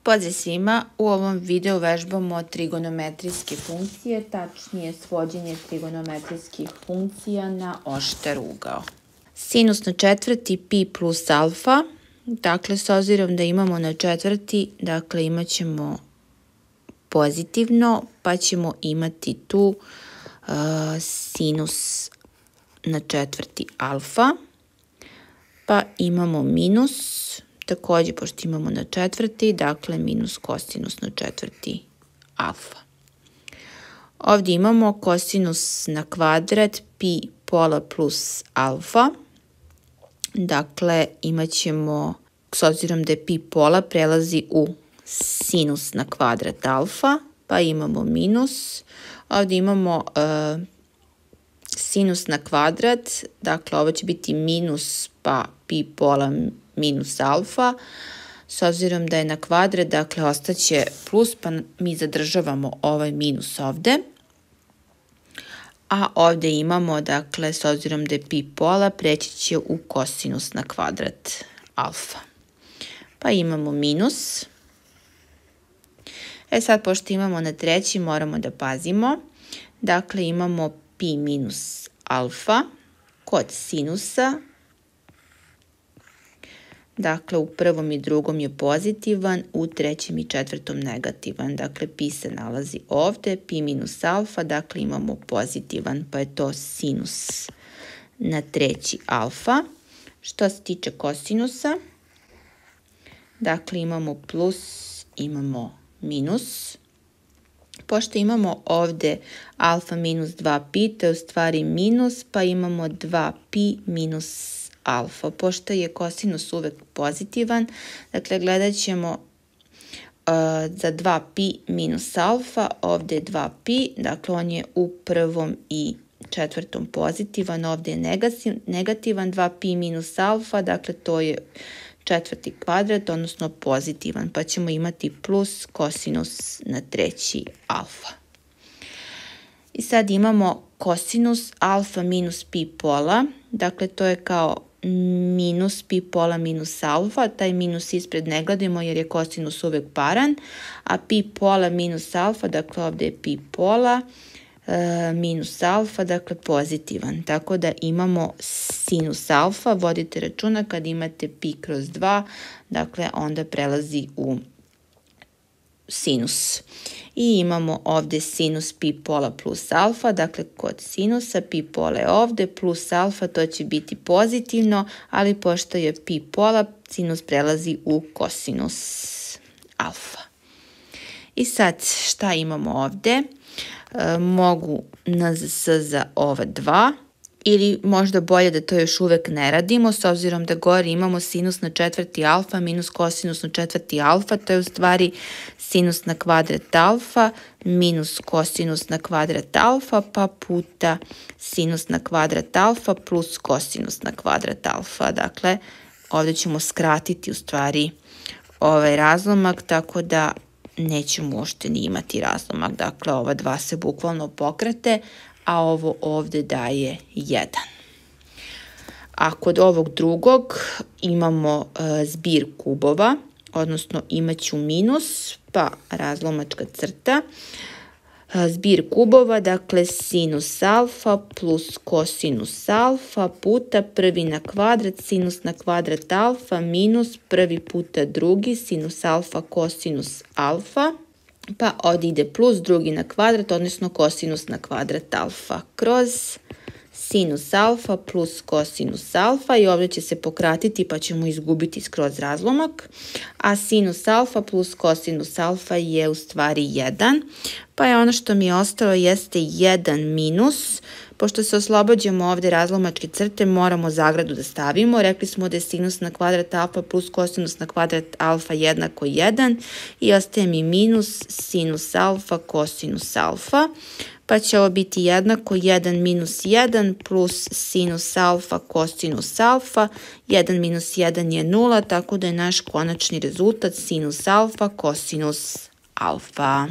Pozdrav svima, u ovom videu vežbamo trigonometrijske funkcije, tačnije svođenje trigonometrijskih funkcija na oštar ugao. Sinus na četvrti pi plus alfa, dakle s obzirom da imamo na četvrti, dakle imat ćemo pozitivno, pa ćemo imati tu sinus na četvrti alfa, pa imamo minus, također pošto imamo na četvrti, dakle minus kosinus na četvrti alfa. Ovdje imamo kosinus na kvadrat pi pola plus alfa, dakle imat ćemo, s obzirom da je pi pola, prelazi u sinus na kvadrat alfa, pa imamo minus. Ovdje imamo sinus na kvadrat, dakle ovo će biti minus pa pi pola minus alfa, s obzirom da je na kvadrat, dakle ostaće plus, pa mi zadržavamo ovaj minus ovde. A ovdje imamo, dakle, s obzirom da je pi pola, preći će u kosinus na kvadrat alfa. Pa imamo minus. Sad, pošto imamo na treći, moramo da pazimo. Dakle, imamo pi minus alfa kod sinusa. Dakle, u prvom i drugom je pozitivan, u trećem i četvrtom negativan. Dakle, pi se nalazi ovdje, pi minus alfa, dakle imamo pozitivan, pa je to sinus na treći alfa. Što se tiče kosinusa, dakle imamo plus, imamo minus. Pošto imamo ovdje alfa minus 2pi, to je u stvari minus, pa imamo 2pi minus alfa. Pošto je kosinus uvek pozitivan, dakle gledat ćemo za 2pi minus alfa, ovdje je 2pi, dakle on je u prvom i četvrtom pozitivan, ovdje je negativan, 2pi minus alfa, dakle to je četvrti kvadrat, odnosno pozitivan, pa ćemo imati plus kosinus na treći alfa. I sad imamo kosinus alfa minus pi pola, dakle to je kao minus pi pola minus alfa, taj minus ispred ne gledamo jer je kosinus uvek paran, a pi pola minus alfa, dakle ovdje je pi pola minus alfa, dakle pozitivan. Tako da imamo sinus alfa, vodite računa kad imate pi kroz 2, dakle onda prelazi u sinus. I imamo ovdje sinus pi pola plus alfa, dakle kod sinusa pi pola je ovdje, plus alfa, to će biti pozitivno, ali pošto je pi pola, sinus prelazi u kosinus alfa. I sad šta imamo ovdje? Mogu NZS za ova dva, ili možda bolje da to još uvek ne radimo, s obzirom da gore imamo sinus na četvrti alfa minus kosinus na četvrti alfa, to je u stvari sinus na kvadrat alfa minus kosinus na kvadrat alfa, pa puta sinus na kvadrat alfa plus kosinus na kvadrat alfa. Dakle, ovdje ćemo skratiti u stvari ovaj razlomak, tako da nećemo uopšte ni imati razlomak. Dakle, ova dva se bukvalno pokrate, a ovo ovdje daje 1. A kod ovog drugog imamo zbir kubova, odnosno imat ću minus, pa razlomačka crta, zbir kubova, dakle sinus alfa plus kosinus alfa puta prvi na kvadrat, sinus na kvadrat alfa minus prvi puta drugi, sinus alfa kosinus alfa. Pa ovdje ide plus drugi na kvadrat, odnosno kosinus na kvadrat alfa kroz sinus alfa plus kosinus alfa i ovdje će se pokratiti pa ćemo izgubiti skroz razlomak. A sinus alfa plus kosinus alfa je u stvari 1. Pa je ono što mi je ostalo jeste 1 minus. Pošto se oslobađamo ovdje razlomačke crte, moramo zagradu da stavimo. Rekli smo da je sinus na kvadrat alfa plus kosinus na kvadrat alfa jednako 1 i ostaje mi minus sinus alfa kosinus alfa. Pa će ovo biti jednako 1 minus 1 plus sinus alfa kosinus alfa. 1 minus 1 je 0, tako da je naš konačni rezultat sinus alfa kosinus alfa.